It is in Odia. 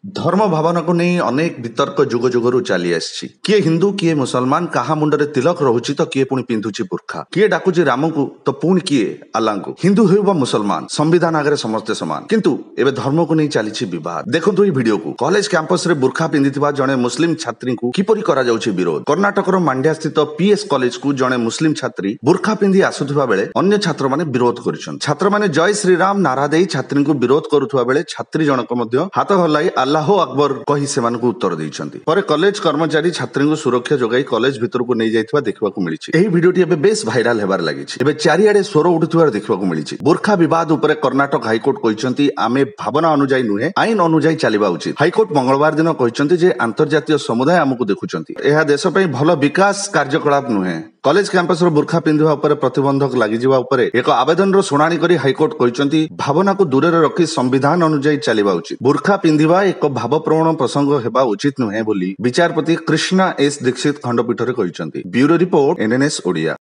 ଧର୍ମ ଭାବନାକୁ ନେଇ ଅନେକ ବିତର୍କ ଯୁଗ ଯୁଗରୁ ଚାଲି ଆସିଛି। କିଏ ହିନ୍ଦୁ, କିଏ ମୁସଲମାନ, କାହା ମୁଣ୍ଡରେ ତିଲକ ରହୁଛି ତ କିଏ ପୁଣି ପିନ୍ଧୁଛି ବୁର୍ଖା। କିଏ ଡାକୁଛି ରାମକୁ ତ ପୁଣି କିଏ ଆଲ୍ଲାଙ୍କୁ। ହିନ୍ଦୁ ହେଉ ବା ମୁସଲମାନ, ସମ୍ବିଧାନ ଆଗରେ ସମସ୍ତେ ସମାନ। କିନ୍ତୁ ଏବେ ଧର୍ମକୁ ନେଇ ଚାଲିଛି ବିବାଦ। ଦେଖନ୍ତୁ ଏହି ଭିଡିଓକୁ। କଲେଜ କ୍ୟାମ୍ପସରେ ବୁର୍ଖା ପିନ୍ଧିଥିବା ଜଣେ ମୁସଲିମ ଛାତ୍ରୀଙ୍କୁ କିପରି କରାଯାଉଛି ବିରୋଧ। କର୍ଣ୍ଣାଟକର ମାଣ୍ଡ୍ୟା ସ୍ଥିତ ପିଏସ୍ କଲେଜକୁ ଜଣେ ମୁସଲିମ ଛାତ୍ରୀ ବୁର୍ଖା ପିନ୍ଧି ଆସୁଥିବା ବେଳେ ଅନ୍ୟ ଛାତ୍ରମାନେ ବିରୋଧ କରିଛନ୍ତି। ଛାତ୍ରମାନେ ଜୟ ଶ୍ରୀରାମ ନାରା ଦେଇ ଛାତ୍ରୀଙ୍କୁ ବିରୋଧ କରୁଥିବା ବେଳେ ଛାତ୍ରୀ ଜଣକ ମଧ୍ୟ ହାତ ହଲାଇ ଆଲ୍ଲାହୋ ଆକବର କହି ସେମାନଙ୍କୁ ଉତ୍ତର ଦେଇଛନ୍ତି। ପରେ କଲେଜ କର୍ମଚାରୀ ଛାତ୍ରୀଙ୍କୁ ସୁରକ୍ଷା ଯୋଗାଇ କଲେଜ ଭିତରକୁ ନେଇଯାଇଥିବା ଦେଖିବାକୁ ମିଳିଛି। ଏହି ଭିଡିଓଟି ଏବେ ବେଶ ଭାଇରାଲ ହେବାରେ ଲାଗିଛି। ଏବେ ଚାରିଆଡେ ସ୍ୱର ଉଠୁଥିବାର ଦେଖିବାକୁ ମିଳିଛି। ବୁର୍ଖା ବିବାଦ ଉପରେ କର୍ଣ୍ଣାଟକ ହାଇକୋର୍ଟ କହିଛନ୍ତି, ଆମେ ଭାବନା ଅନୁଯାୟୀ ନୁହେଁ, ଆଇନ ଅନୁଯାୟୀ ଚାଲିବା ଉଚିତ। ହାଇକୋର୍ଟ ମଙ୍ଗଳବାର ଦିନ କହିଛନ୍ତି ଯେ ଆନ୍ତର୍ଜାତୀୟ ସମୁଦାୟ ଆମକୁ ଦେଖୁଛନ୍ତି। ଏହା ଦେଶ ପାଇଁ ଭଲ ବିକାଶ କାର୍ଯ୍ୟକଳାପ ନୁହେଁ। କଲେଜ କ୍ୟାମ୍ପସର ବୁର୍ଖା ପିନ୍ଧିବା ଉପରେ ପ୍ରତିବନ୍ଧକ ଲାଗିଯିବା ଉପରେ ଏକ ଆବେଦନର ଶୁଣାଣି କରି ହାଇକୋର୍ଟ କହିଛନ୍ତି, ଭାବନାକୁ ଦୂରରେ ରଖି ସମ୍ବିଧାନ ଅନୁଯାୟୀ ଚାଲିବା ଉଚିତ। ବୁର୍ଖା ପିନ୍ଧିବା ଏକ ଭାବପ୍ରବଣ ପ୍ରସଙ୍ଗ ହେବା ଉଚିତ ନୁହେଁ ବୋଲି ବିଚାରପତି କୃଷ୍ଣା ଏସ୍ ଦୀକ୍ଷିତ ଖଣ୍ଡପୀଠରେ କହିଛନ୍ତି। Bureau report, NNS Odia.